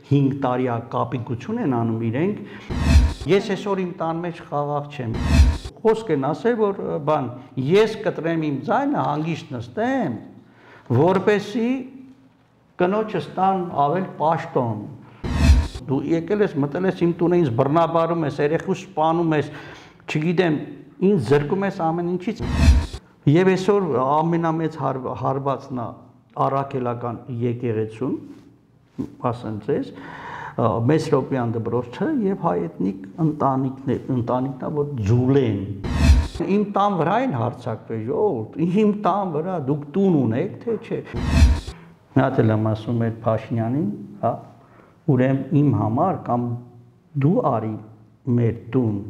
5 տարի կապիկություն են անում իրենք։ Ես այսօր իմ տան մեջ խաղաղ չեմ։ Խոսք են ասել, որ բան, ես կտրեմ իմ ձայնը, հանգիստ նստեմ, որպեսզի կնոջս տան ավել պաշտոն։ Դու եկել ես, մտել ես իմ տունը, ինձ բռնաբարում ես, երեխուս սպանում ես, չգիտեմ, ինձ զրկում ես ամեն ինչից։ Եվ այսօր ամենամեծ հարվածն է առաքելական եկեղեցուն, ասեմ ձեզ, Մեսրոպյան դպրոցը եւ հայեթնիկ ընտանիքն է, որ ջուլ են։ Իմ տան վրա են հարձակվել, ժողովուրդ, իմ տան վրա, դուք տուն ունեք, թե չէ։ Նա էլ եմ ասում էր Փաշինյանին, հա, ուրեմն իմ համար կամ դու արի մեր տուն,